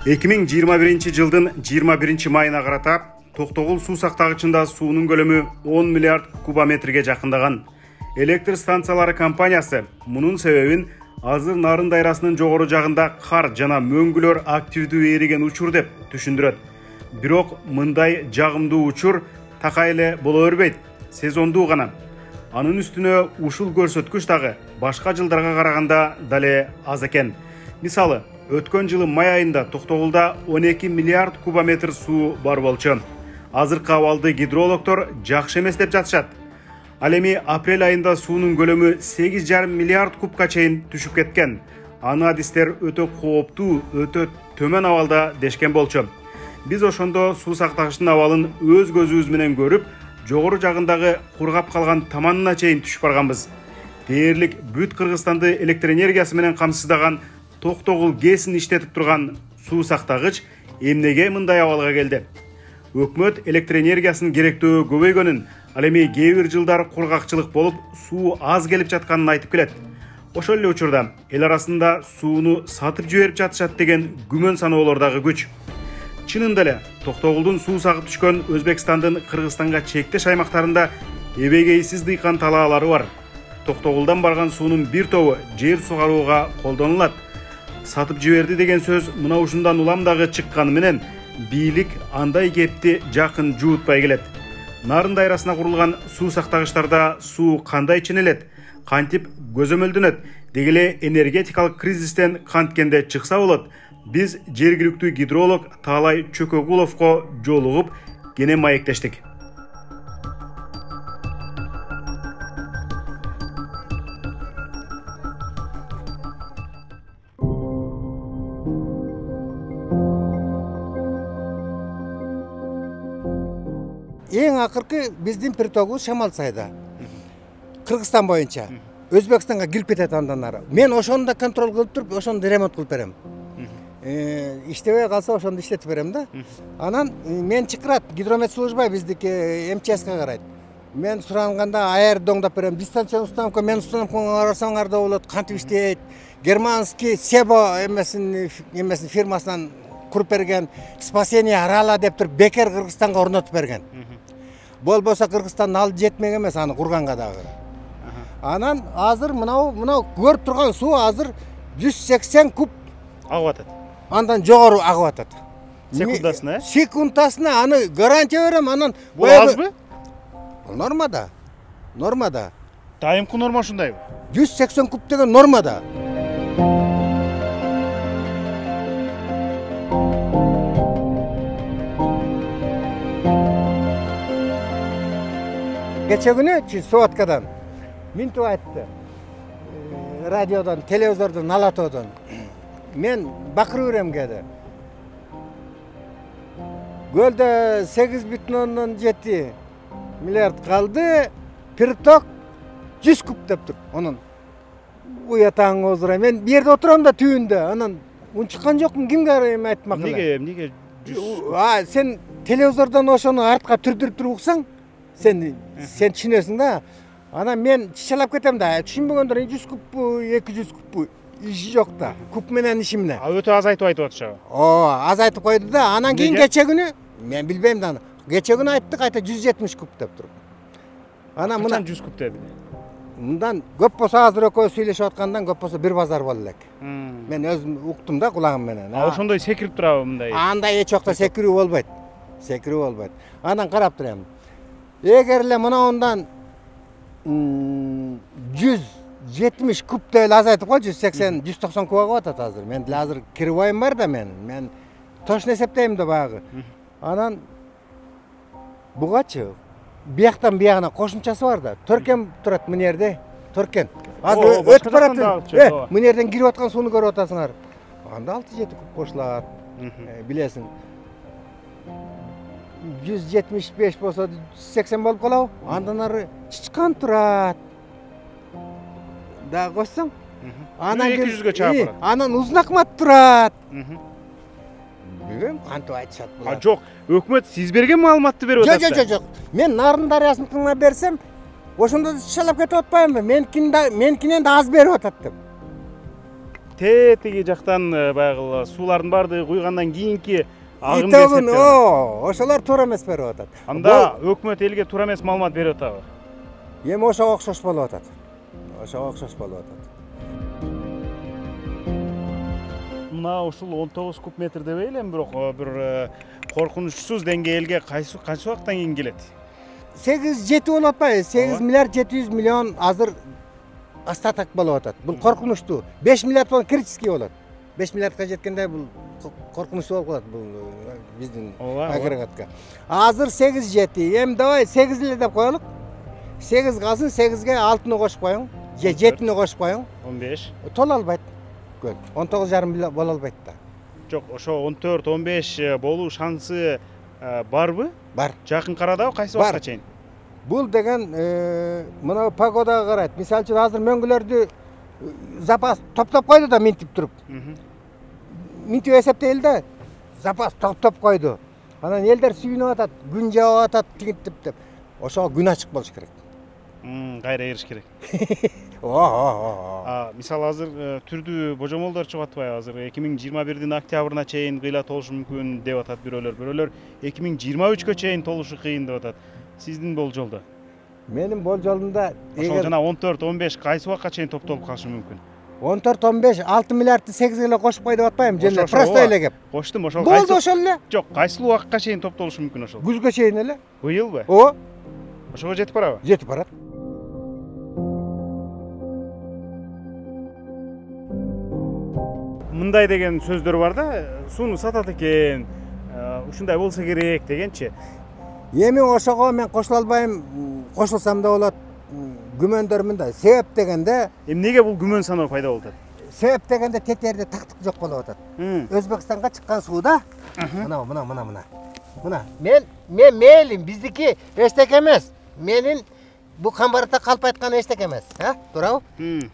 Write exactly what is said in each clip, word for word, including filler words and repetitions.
эки миң жыйырма биринчи жылдын жыйырма биринчи майына карата Токтогул суу сактагычында суунун көлөмү он миллиард кубометрге жакындаган. Электр станциялары компаниясы мунун себебин азыр Нарын дайрасынын жогору жагында кар жана мөңгүлөр активдүү эриген учур деп түшүндүрөт. Бирок мындай жагымдуу учур такай эле боло бербейт, сезондуу гана. Анын үстүнө ушул көрсөткүч дагы башка жылдарга караганда дале аз экен. Мисалы, өткөн жылы май айында Токтогулда он эки миллиард кубометр суу бар болчу. Азыркы абалды гидрологдор жакшы эмес деп жатышат. Ал эми апрель айында суунун көлөмү сегиз жарым миллиард кубка чейин түшүп кеткен. Аны адистер өтө кооптуу, өтө төмөн абалда дешкен болчу. Биз ошондо суу сактагычтын абалын өз көзүбүз менен көрүп, жогору жагындагы кургап калган таманына чейин түшүп барганбыз. Дээрлик бүт Кыргызстанды электр энергиясы менен камсыздаган Токтогул ГЭСин иштетип турган суу сактагыч эмнеге мындай абалга келди? Өкмөт электр энергиясынын керектөө көбөйгөнүн, ал эми кээ бир жылдар кургакчылык болуп, суу аз келип жатканын айтып келет. Ошол эле учурда эл арасында сууну сатып жиберип жатышат деген күмөн саноолор дагы күч. Чынында эле Токтогулдун суу сагып түшкөн Өзбекстандын Кыргызстанга чектеш аймактарында эбегейсиз дыйкан талаалары бар. Токтогулдан барган суунун бир тобу жер сугарууга колдонулат. Сатып жиберди деген сөз мына ушундан улам дагы чыкканы менен бийлик андай кепти жакын жуутпай келет. Нарын дайрасына курулган суу сактагычтарда суу кандай ченелет, кантип көзөмөлдөнөт, деги эле энергетикалык кризистен канткенде чыкса болот. Биз жергиликтүү гидролог Таалай Чөкөгуловго жолугуп кене маектештик. Эң акыркы биздин притогубуз Шамалсайда. Кыргызстан боюнча. Өзбекстанга кирип кетет андан ары. Мен ошону да контроль кылып туруп, ошону ремонт кылып берем. Иштебей калса ошону иштетип берем да. Анан мен чакырат, гидрометслужба биздики МЧСка карайт. Мен суранганда аяр доңдоп берем. Дистанциялык установка, мен установкага карасаңар да болот, кантип иштейт. Германский Себо эмесин эмесин фирмасынан куруп берген, спасение арала деп туруп бекер Кыргызстанга орнотуп берген. Болбосо Кыргызстандын алды жетмек эмес аны курганга дагы. Анан азыр мынау мынау көрүп турган суу азыр жүз сексен куб агып атат. Андан жогору агып атат. Секундасына, э? Секундасына аны гарантия берем, анан бул азбы? Нормада. Нормада. Дайымкы норма ушундайбы? жүз сексен куб деген нормада. Кече күнү Сооткадан Минту айтты. Радиодон, телевизордон, Алатоодон. Мен бакырып берем кеди. Көлдө сегиз бүтүн ондон жети миллиард калды, приток жүз куб деп тур. Анан уятаң озура. Мен бу жерде отурам да түбүндө. Анан унчуккан жокмун, кимге эми айтмак эле. Эмнеге, эмнеге жүз? А, сен телевизордон ошону артка түрдүрүп туруп уксаң, сен сен түшүнөсүң да. Анан мен чычалап кетем да. Түшүнбөгөндөр жүз кубпу, эки жүз кубпу иши жок да. Куб менен иши менен. А өтө аз айтып айтып атышабы? О, аз айтып койду да. Анан кийин кече күнү мен билбейм да аны. Кече күнү айтты кайта жүз жетимиш куб деп туруп. Анан мына жүз куб деди. Мындан көп болсо азыр экөөбүз сүйлөшүп аткандан көп болсо бир базар боло элек. Мен өзүм уктум да кулагым менен. А ошондой секирип турабы мындай? Андай эч жокто секирүү болбойт. Секирүү болбойт. Анан карап турам. Эгер эле мынауундан жүз жетимиш куб деле азайтып кой, жүз сексен, жүз токсон куб агып атат азыр. Мен деле азыр кирбайым бар да мен. Мен точно эсептейм да багы. Анан бугачы бияктан биягына кошумчасы бар да. Төркен турат мына жерде. Төркен. Азыр өтүп барат. Э, мына жерден кирип аткан сууну көрүп атасыңар. Анда алты жети куб кошулат. Билесиң. жүз жетимиш беш болсо жүз сексен болуп калабы? Андан ары чычкан турат. Да койсоң. Анан эки жүзгө чыгып барат. Анан Узун Акмат турат. Билбейм, кантип айтышат булар. А жок, өкмөт сиз берген маалыматты берип атат. Жок, жок, жок. Мен Нарын дарыясыныкына берсем, ошондо чычалап кетип атпаймынбы? Меникинен да аз берип атат деп. тетиги жактан баягы суулардын баардыгы куйгандан кийинки агым итебин о ошолор туура эмес берип атат. Анда өкмөт элге туура эмес маалымат берип атабы? Эми ошого окшош болуп атат. Ошого окшош болуп атат. Мына ушул он тогуз куб метр дебей элем, бирок бир коркунучсуз деңгээлге кайсы канча убакыттан кийин келет? сегиз жети болуп атпайбы? сегиз миллиард жети жүз миллион азыр остаток болуп атат. Бул коркунучтуу. беш миллиард болон критический болот. беш миллиардка жеткенде бул коркунучтуу болуп калат бул биздин агрегатка. Азыр сегиз жети. Эми давай сегиз эле деп коелук. сегиз калсын, сегизге алтыны кошуп коюң. же жетини кошуп коюң. он беш. Тола албайт. Көл. он тогуз жарым боло албайт да. Жок, ошо он төрт он беш болуу шансы барбы? Бар. Жакын арада кайсы убакытка чейин? Бул деген мына погодага карайт. Мисалы үчүн азыр мөңгүлөрдү запас топтоп койду да минтип туруп. Минтип эсептейли да запас топтоп койду. Анан элдер сүйүнүп атат, күн жаап атат, тигинтип деп. Ошого күн ачык болуш керек. Кайра эриш керек. О, мисалы азыр түрдүү божомолдор чыгып атпайбы? Азыр эки миң жыйырма бирдин октябрына чейин кыйла толушу мүмкүн деп атат бирөөлөр. Бирөөлөр эки миң жыйырма үчкө чейин толушу кыйын деп атат. Сиздин болжолдо? Менин болжолумда ошол жана он төрт он беш кайсы убакка чейин топтолуп калышы мүмкүн? он төрт он беш алты миллиардты сегизге эле кошуп кой деп атпаймынбы? Жөн просто эле кеп. Коштум, ошол кайсы? Болду ошол эле. Жок, кайсыл убакка чейин топтолушу мүмкүн ошол? Күзгө чейин эле. Быйылбы? О. Ошого жетип барабы? Жетип барат. Мындай деген сөздөр бар да, сууну сатат экен, ушундай болсо керек дегенчи. Эми ошого мен кошула албайм, кошулсам да болот. Күмөндөр мындай. Себеп дегенде, эмнеге бул күмөн саноо пайда болуп атат? Себеп дегенде тетерде тактык жок болуп атат. Өзбекстанга чыккан сууда, мына, мына, мына, мына. Мына, мен мен мейлим, биздики эчтеке эмес. Менин бул камбарда калп айткан эчтеке эмес, а? Туурабы?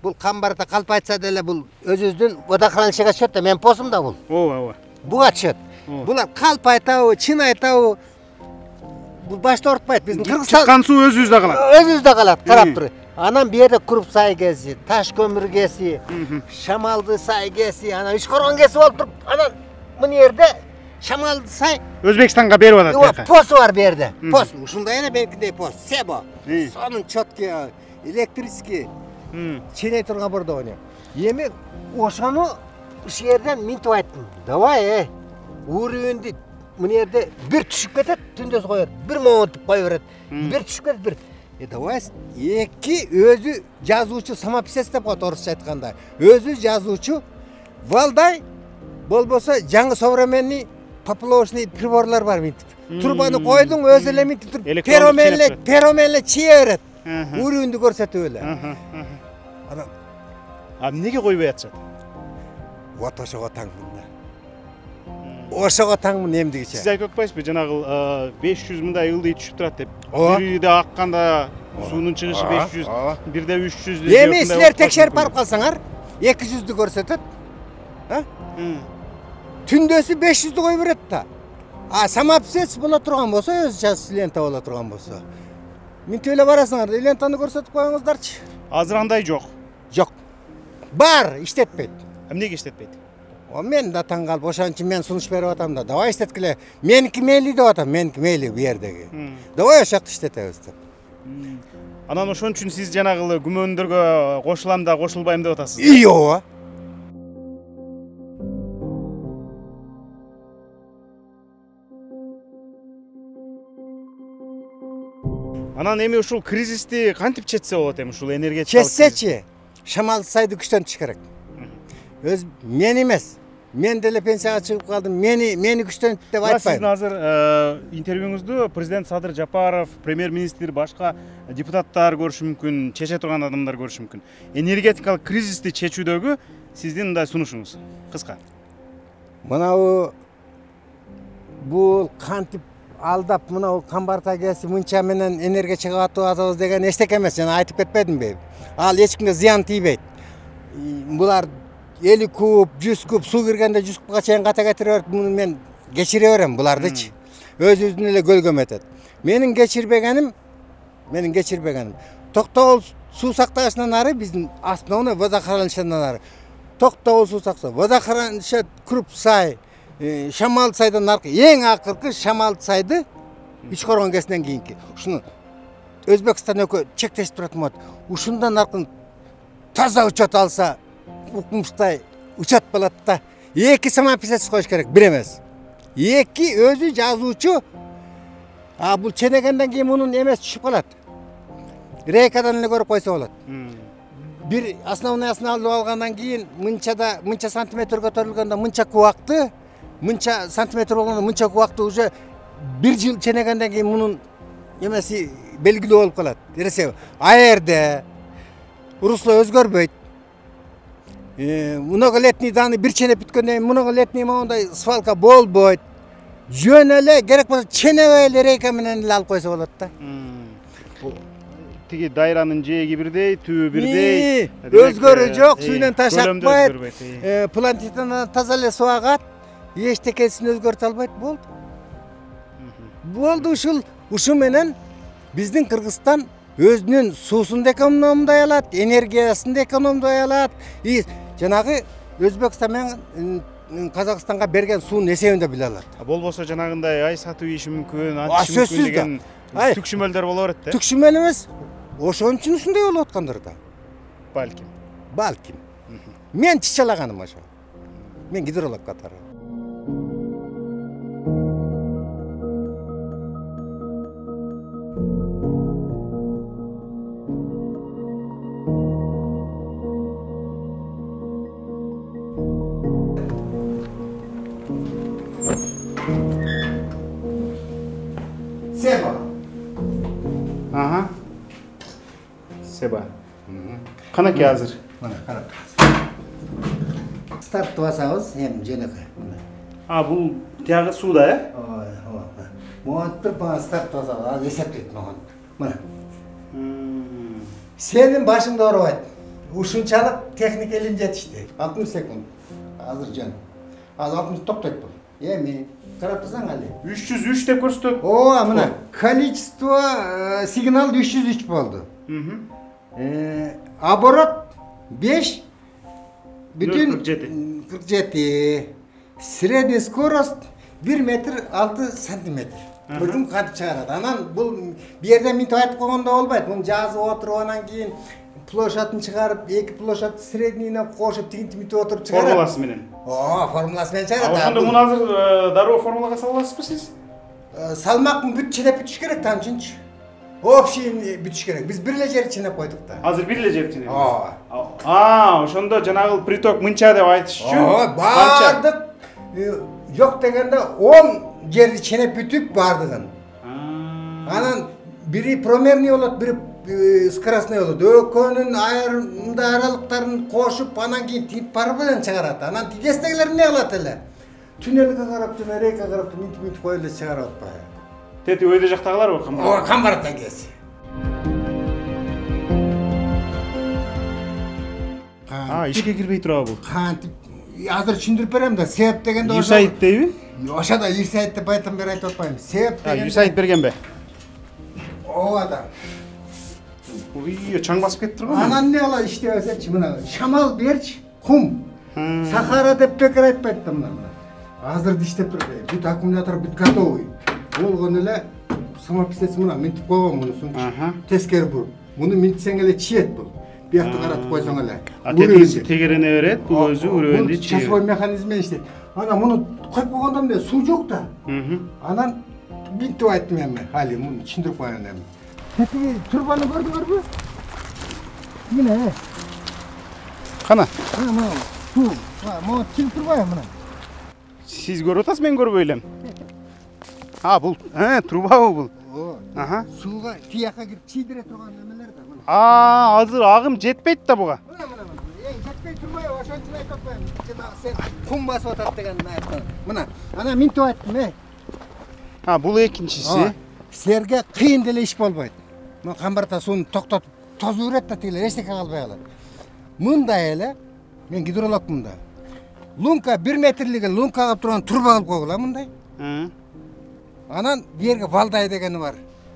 Бул камбарда калп айтса деле бул өзүбүздүн водохранилищеге түшөт да, мен посум да бул. Ооба, ооба. Буга түшөт. Булар калп айтабы, чын айтабы? Бул башта ортпайт. Биздин Кыргызстан чыккан суу өзүбүздө калат. Өзүбүздө калат, карап тур. Анан бу жерде Куруп сай кеси, Таш көмүр кеси, Шамалды сай кеси, анан Үч коргон кеси болуп туруп, анан мына жерде Шамалды сай Өзбекстанга берип атат бияка. Посу бар бу жерде. Пос, ушундай эле меникиндей пос, Себо. Сонун чёткий, электрический. Ченей турган бордону. Эми ошону ушул жерден минтип айттым. Давай, э. Уровеньди мына жерде бир түшүп кетет, түндөс коёт. Бир моментип кое берет. Бир түшүп кетет, бир. Э, давай, эки өзү жазуучу самописец деп коет орусча айтканда. Өзү жазуучу Валдай болбосо жаңы современный поплавочный приборлор бар минтип. Турбаны койдуң, өзү эле минтип туруп, пероменле, пероменле чие берет. Уровеньди көрсөтүп эле. Анан а эмнеге койбой атышат? Вот ошого таңмын. Ошого таңмын эмдигиче. Сиз айтып атпайсызбы, жанагы беш жүз мындай ылдый түшүп турат деп. Бирде акканда суунун чыгышы беш жүз, бирде үч жүз деп. Эми силер текшерип барып калсаңар, эки жүздү көрсөтөт. А? Түндөсү беш жүздү кой берет да. А самописец боло турган болсо, өзү час лента боло турган болсо. Минтип эле барасыңар, лентаны көрсөтүп коюңуздарчы. Азыр андай жок. Жок. Бар, иштетпейт. Эмнеге иштетпейт? О, мен да таң калып, ошон үчүн мен сунуш берип атам да. Давай иштеткиле. Меники мейли деп атам, меники мейли бу жердеги. Давай ошол жакта иштетебиз деп. Анан ошон үчүн сиз жанагы күмөндөргө кошулам да, кошулбайм деп атасыз. И ооба. Анан эми ушул кризисти кантип четсе болот эми ушул энергетикалык? Четсечи, Шамалды сайды күчтөнтүш керек. Өз мен эмес. Мен деле пенсияга чыгып калдым. Мени мени күчтөнт деп айтпайм. Сиздин азыр интервьюңузду президент Садыр Жапаров, премьер-министр, башка депутаттар көрүшү мүмкүн, чече турган адамдар көрүшү мүмкүн. Энергетикалык кризисти чечүүдөгү сиздин мындай сунушуңуз кыска. Мынабу бул кантип алдап мынау камбарта кеси мынча менен энергия чыгып атабыз деген эчтеке эмес, жана айтып кетпедимби? Ал эч кимге зыян тийбейт. Булар элүү куб, жүз куб суу киргенде жүз кубга чейин ката кетире берет. Муну мен кечире берем булардычы. Өзүбүздүн эле көлгөм этет. Менин кечирбегеним, менин кечирбегеним. Токтогул суу сактагычынан ары биздин основной водохранилищеден ары Токтогул суусаксы, Водохранилище Круп сай, Шамал сайдан аркы эң акыркы Шамал сайды Үч Коргон кесинен кийинки. Ушуну Өзбекстан экөө чектешип турат болот. Ушундан аркын таза учат алса, укмуштай учат болот да. Эки самописец коюш керек, бир эмес. Эки өзү жазуучу. А бул ченегенден кийин мунун эмес түшүп калат. Рейкадан эле көрүп койсо болот. Бир основныясын алып алгандан кийин мынчада мынча сантиметр көтөрүлгөндө мынча кубакты, мынча сантиметр болгондо мынча кубакты уже бир жыл ченегенден кийин мунун эмеси белгилүү болуп калат. Эресе аэрде русло өзгөрбөйт. Многолетний даны бир ченеп бүткөндөн кийин многолетний моундай свалка болбойт. Жөн эле керек болсо ченебей эле рейка менен эле алып койсо болот да. Тиги дайранын жээги бирдей, түбү бирдей. Өзгөрүү жок, сүйүнөн ташакпайт. Плантитаны таза эле суу агат. Эчтекесин өзгөртө албайт, болду. Болду ушул, ушу менен биздин Кыргызстан өзүнүн суусун да экономдой алат, энергиясын да экономдой алат. И жанагы Өзбекстан менен Казакстанга берген суунун эсебин да биле алат. Болбосо жанагындай ай сатып ийиши мүмкүн, антышы мүмкүн деген түкшүмөлдөр боло берет да. Түкшүмөл эмес. Ошон үчүн ушундай болуп аткандыр да. Балким. Балким. Мен чычалаганым ошо. Мен гидролог катары. Себа. Ага. Себа. Канаке азыр? Мына карап. Старт басабыз, эми жөнөкөй. А, бул тиягы сууда, э? Ой, ой. Монтур бана старт басабыз, азыр эсептейт мага. Мына. Сенин башыңды оорубайт. Ушунчалык техника илим жетишти. алтымыш секунд. Азыр жөн. Азыр алтымыш токтойт бул. Эми карап турсаң али. үч жүз үч деп көрсөтөт. Ооба, мына. Количество сигнал үч жүз үч болду. Э, оборот беш бүтүн кырк жети. Средний скорость бир метр алты сантиметр. Бирдин кантип чыгарат. Анан бул бу жерден минтип айтып койгондо болбойт. Муну жазып отуруп анан кийин площадын чыгарып, эки площадь среднийне кошуп тигинтип минтип отуруп чыгарат. Формуласы менен. Ооба, формуласы менен чыгарат. Ошондо муну азыр дароо формулага сала аласызбы сиз? Салмактын бүт ченеп бүтүш керек да үчүнчү. Общийин бүтүш керек. Биз бир эле жер ченеп койдук да. Азыр бир эле жер ченеп. Ооба. А, ошондо жанагы приток мынча деп айтыш үчүн. Ооба, бардык жок дегенде он жерди ченеп бүтүп бардыгын. Анан бири промерный болот, бири скоростной болот. Экөөнүн айрымда аралыктарын кошуп, анан кийин тип барып менен чыгарат. Анан тигестегилер эмне кылат эле? Туннелге карап, жана рейка карап, минтип минтип коюп эле чыгарып атпайбы? Тети өйдө жактагыларбы? Ооба, камбараттан кез. А, ишке кирбей турабы бул? Кантип азыр түшүндүрүп берем да. Себеп дегенде ошо. Юсайт дейби? Ошода Юсайт деп айтам бери айтып атпайм. Себеп дегенде. А, Юсайт бергенби? Ооба да. Ой, чаң басып кетти го. Анан эмне кылат иштебесечи, мына Шамал берчи, кум. Сахара деп бекер айтпайт да мына. Азыр иштеп турат. Бүт аккумулятор бүт готовый. Болгон эле самописец мына минтип койгон мунусун. Тескери буруп. Муну минтсең эле чиет бул. Биякты каратып койсоң эле. А тетиси тегерене берет, бул өзү үрөндү чиет. Часовой механизм менен иштейт. Ана муну коюп койгондо эмне суу жок да. Анан минтип айттым эми. Али муну түшүндүрүп коеюн эми. Тетиги турбаны көрдүңөрбү? Мына. Кана? Мына. Суу. Могу чыгып турбайбы мына? Сиз көрүп атасыз, мен көрбөй элем. А, бул, э, трубабы бул? Ага. Сууга тияка кирип чийдире турган эмелер да мына. А, азыр агым жетпейт да буга. Мына мына мына. Эң жетпей турбайбы? Ошон үчүн айтып атпайм. Жанагы сен кум басып атат деген айттым. Мына, ана минтип айттым, э. А, бул экинчиси. Силерге кыйын деле иш болбойт. Мына камбарта сууну токтотуп тозуу берет да, тигилер эчтеке калбай калат. Мындай эле, мен гидрологмун да. Лунка бир метрлиги лунка кылып турган турба кылып койгула мындай. Анан жерге Валдай дегени бар.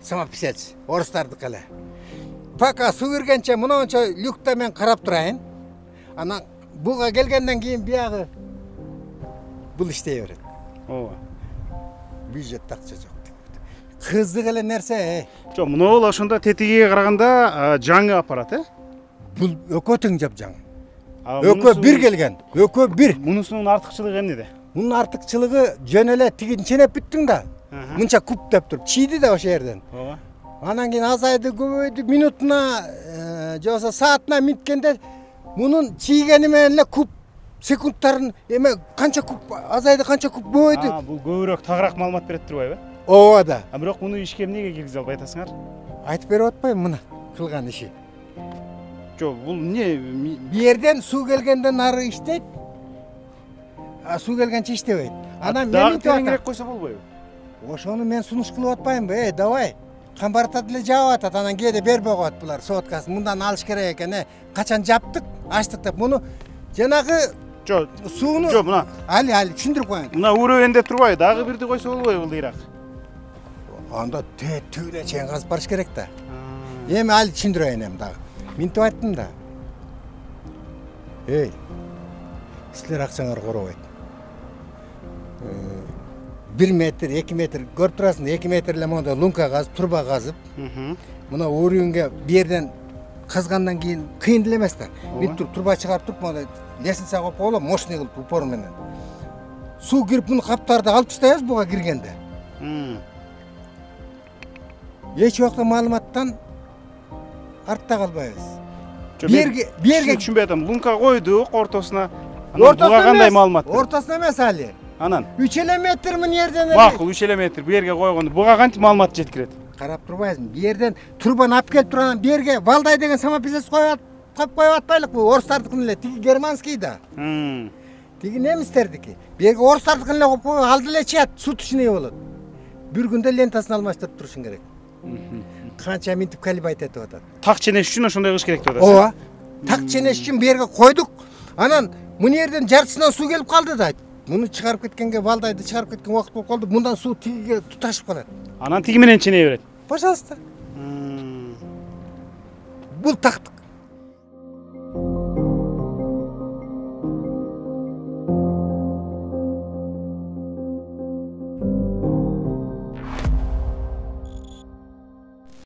Самописец, орустардыкы эле. Пока суу киргенче мынанча люкта мен карап турайын. Анан буга келгенден кийин биягы бул иштей берет. ооба. Бюджетте акча жок. Кыздык эле нерсе. Жок, мынабул ошондо тетигиге караганда жаңы аппарат, э? Бул экөө тең жапжаң. Экөө бир келген. Экөө бир. Мунусунун артыкчылыгы эмнеде? Мунун артыкчылыгы жөн эле тигин ченеп бүттүң да. Мынча куп деп туруп чийди да ошол жерден. Ооба. Анан кийин азайды, көбөйдү, минутуна же болбосо саатына минткенде мунун чийгени менен эле куп секундтарын эме канча куп азайды, канча куп көбөйдү. А, бул көбүрөөк тагыраак маалымат берет турбайбы? Ооба да. А бирок муну ишке эмнеге киргизе албай атасыңар? Айтып берип атпайм муну кылган иши. Жок, бул эмне? Бу жерден суу келгенден ары иштейт. А суу келгенче иштебейт. Анан мен дагы тереңирээк койсо болбойбу? Ошону мен сунуш кылып атпаймынбы? Эй, давай. Камбартат эле жаап атат, анан кээде бербей коет булар соткасын. Мындан алыш керек экен, э. Качан жаптык, ачтык деп. Муну жанагы Жок, сууну жок, мына. Али, али түшүндүрүп коеюн. Мына урөбөнде турбайбы? Дагы бирди койсо болбойбу булдыйраак? Анда түбүнө чейин казып барыш керек да. Эми али түшүндүрөйүн эми дагы. Минтип айттым да. Эй, силер акчаңарды коробойт. бир метр, эки метр көрүп турасың, эки метр эле монда лунка казып, турба казып. Мына өрүүнгө бу жерден казгандан кийин кыйын эле эмес да. Бүт туруп турба чыгарып туруп, монда лестница коюп коелу, мощный кылып упор менен. Суу кирип муну каптарды алып таштайбыз буга киргенде. Эч убакта маалыматтан артта калбайбыз. Берге, берге түшүнбөй атам. Лунка койдук ортосуна. Анан буга кандай маалымат? Ортосуна эмес али. Анан үч эле метр мына жерден эле. Макул, үч эле метр бу жерге койгондо буга кантип маалымат жеткирет? Карап турбайсың. Бу жерден турбаны алып келип турган бу жерге Валдай деген самописец коюп коюп коюп атпайлык бу орустардыкын эле, тиги германский да. Тиги немистердики. Бу жерге орустардыкын эле коюп коюп алды эле чыят, суточный болот. Бир күндө лентасын алмаштырып турушуң керек. Канча минтип калибайт этип атат. Так ченеш үчүн ошондой кылыш керек деп атасыз. Ооба. Так ченеш үчүн бу жерге койдук. Анан мына жерден жартысынан суу келип калды да. Муну чыгарып кеткенге, Валдайды чыгарып кеткен убакыт болуп калды. Мындан суу тигиге туташып калат. Анан тиги менен ченей берет. Пожалуйста. Бул тактык.